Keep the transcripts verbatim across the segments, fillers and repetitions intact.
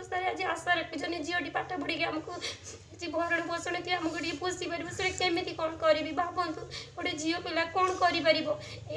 ଅବସ୍ଥାରେ ଆଜି ଆଶା ରଖିଛନ୍ତି ଝିଅଟି ପାଠ ପଢ଼ିକି ଆମକୁ କିଛି ଭରଣ ପୋଷଣ କି ଆମକୁ ଟିକେ ପୋଷି ପାରିବ। ସେଟା କେମିତି କ'ଣ କରିବି ଭାବନ୍ତୁ, ଗୋଟେ ଝିଅ ପିଲା କ'ଣ କରିପାରିବ?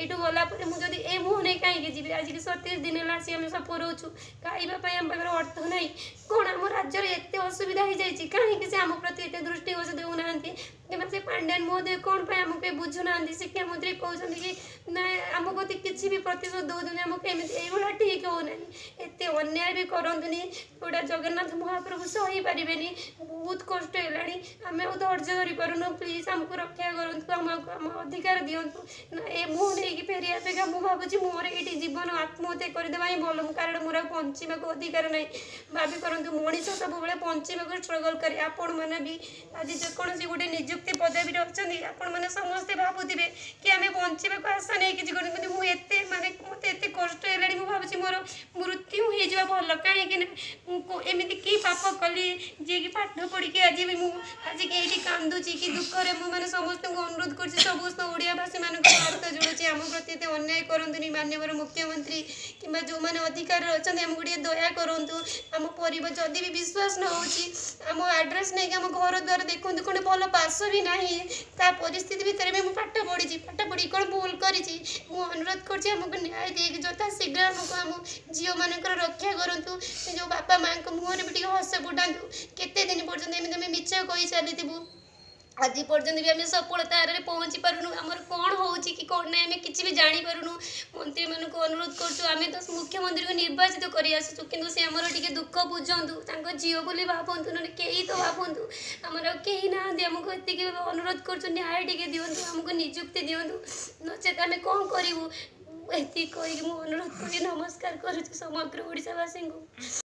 ଏଇଠୁ ଗଲା ପରେ ମୁଁ ଯଦି ଏ ମୁହଁ ନେଇ କାହିଁକି ଯିବି? ଆଜିକି ସତେଇଶ ଦିନ ହେଲା ଆସି ଆମେ ସଫର ରହୁଛୁ, ଖାଇବା ପାଇଁ ଆମ ପାଖରେ ଅର୍ଥ ନାହିଁ। କ'ଣ ଆମ ରାଜ୍ୟରେ ଏତେ ଅସୁବିଧା ହେଇଯାଇଛି? କାହିଁକି ସେ ଆମ ପ୍ରତି ଏତେ ଦୃଷ୍ଟିଗୋଚର ଦେଉନାହାନ୍ତି? କିମ୍ବା ସେ ପାଣ୍ଡିଆନ ମହୋଦୟ କ'ଣ ପାଇଁ ଆମକୁ ବୁଝୁନାହାନ୍ତି? ଶିକ୍ଷାମନ୍ତ୍ରୀ କହୁଛନ୍ତି କି ନା ଆମ ପ୍ରତି କିଛି ବି ପ୍ରତିଶୋଧ ଦେଉଛନ୍ତି ଆମକୁ, ଏମିତି ଏଇଭଳିଆ ଠିକ୍ ହେଉନାହିଁ। ଏତେ ଅନ୍ୟାୟ ବି କରନ୍ତୁନି, ଯେଉଁଟା ଜଗନ୍ନାଥ ମହାପ୍ରଭୁ ସହିପାରିବେନି। ବହୁତ କଷ୍ଟ ହେଲାଣି, ଆମେ ଆଉ ଧୈର୍ଯ୍ୟ ଧରିପାରୁନୁ। ପ୍ଲିଜ୍ ଆମକୁ ରକ୍ଷା କରନ୍ତୁ, ଆମକୁ ଆମ ଅଧିକାର ଦିଅନ୍ତୁ। ନା ଏ ମୁହଁ ନେଇକି ଫେରିବା ଅପେକ୍ଷା ମୁଁ ଭାବୁଛି ମୋର ଏଇଠି ଜୀବନ ଆତ୍ମହତ୍ୟା କରିଦେବା ହିଁ ଭଲ, କାରଣ ମୋର ଆଉ ବଞ୍ଚିବାକୁ ଅଧିକାର ନାହିଁ। ଭାବି କରନ୍ତୁ, ମଣିଷ ସବୁବେଳେ ବଞ୍ଚିବାକୁ ଷ୍ଟ୍ରଗଲ୍ କରେ। ଆପଣମାନେ ବି ଆଜି ଯେକୌଣସି ଗୋଟେ ନିଯୁକ୍ତି ପଦବୀରେ ଅଛନ୍ତି, ଆପଣମାନେ ସମସ୍ତେ ଭାବୁଥିବେ କି ଆମେ ବଞ୍ଚିବାକୁ ଆଶା ନେଇ କିଛି କରୁନୁ। କିନ୍ତୁ ମୁଁ ଏତେ ମାନେ ମୋତେ ଏତେ କଷ୍ଟ ହେଲାଣି, ମୁଁ ଭାବୁଛି ମୋର ମୃତ୍ୟୁ ହେଇଯିବା ଭଲ। କାହିଁକି ନା ମୁଁ ଏମିତି କି ପାପ କଲି ଯିଏକି ପାଠ ପଢ଼ିକି ଆଜି ବି ମୁଁ ଆଜିକି ଏଇଠି କାନ୍ଦୁଛି କି ଦୁଃଖରେ। ମୁଁ ମାନେ ସମସ୍ତଙ୍କୁ ଅନୁରୋଧ କରୁଛି, ସମସ୍ତ ଓଡ଼ିଆବାସୀମାନଙ୍କୁ ହାତ ଯୋଡ଼ୁଛି, ଆମ ପ୍ରତି ଏତେ ଅନ୍ୟାୟ କରନ୍ତୁନି। ମାନ୍ୟବର ମୁଖ୍ୟମନ୍ତ୍ରୀ କିମ୍ବା ଯେଉଁମାନେ ଅଧିକାରରେ ଅଛନ୍ତି, ଆମକୁ ଟିକେ ଦୟା କରନ୍ତୁ। ଆମ ପରିବାର ଯଦି ବି ବିଶ୍ୱାସ ନ ହେଉଛି, ଆମ ଆଡ୍ରେସ୍ ନେଇକି ଆମ ଘର ଦ୍ୱାର ଦେଖନ୍ତୁ, କ'ଣ ଭଲ ବାସ ବି ନାହିଁ। ତା ପରିସ୍ଥିତି ଭିତରେ ବି ମୁଁ ପାଠ ପଢ଼ିଛି, ପାଠ ପଢ଼ିକି କ'ଣ ଭୁଲ କରିଛି? ମୁଁ ଅନୁରୋଧ କରୁଛି, ଆମକୁ ନ୍ୟାୟ ଦେଇକି ଯଥା ଶୀଘ୍ର ଆମକୁ ଆମ ଝିଅମାନଙ୍କର ରକ୍ଷା କରନ୍ତୁ। ଯେଉଁ ବାପା ମାଆଙ୍କ ମୁହଁରେ ବି ଟିକେ ହସ ଫୁଟାନ୍ତୁ। କେତେ ଦିନ ପର୍ଯ୍ୟନ୍ତ ଏମିତି ଆମେ ମିଛ କହି ଚାଲିଥିବୁ? ଆଜି ପର୍ଯ୍ୟନ୍ତ ବି ଆମେ ସଫଳତା ହାରରେ ପହଞ୍ଚି ପାରୁନୁ। ଆମର କ'ଣ ହେଉଛି କି କ'ଣ ନାହିଁ ଆମେ କିଛି ବି ଜାଣିପାରୁନୁ। ମନ୍ତ୍ରୀମାନଙ୍କୁ ଅନୁରୋଧ କରୁଛୁ, ଆମେ ତ ମୁଖ୍ୟମନ୍ତ୍ରୀଙ୍କୁ ନିର୍ବାଚିତ କରି ଆସିଛୁ, କିନ୍ତୁ ସେ ଆମର ଟିକେ ଦୁଃଖ ବୁଝନ୍ତୁ, ତାଙ୍କ ଝିଅ ବୋଲି ଭାବନ୍ତୁ, ନହେଲେ କେହି ତ ଭାବନ୍ତୁ। ଆମର ଆଉ କେହି ନାହାନ୍ତି। ଆମକୁ ଏତିକି ଅନୁରୋଧ କରୁଛୁ, ନ୍ୟାୟ ଟିକେ ଦିଅନ୍ତୁ, ଆମକୁ ନିଯୁକ୍ତି ଦିଅନ୍ତୁ, ନଚେତ୍ ଆମେ କ'ଣ କରିବୁ? ଏତିକି କହିକି ମୁଁ ଅନୁରୋଧ କରି ନମସ୍କାର କରୁଛି ସମଗ୍ର ଓଡ଼ିଶାବାସୀଙ୍କୁ।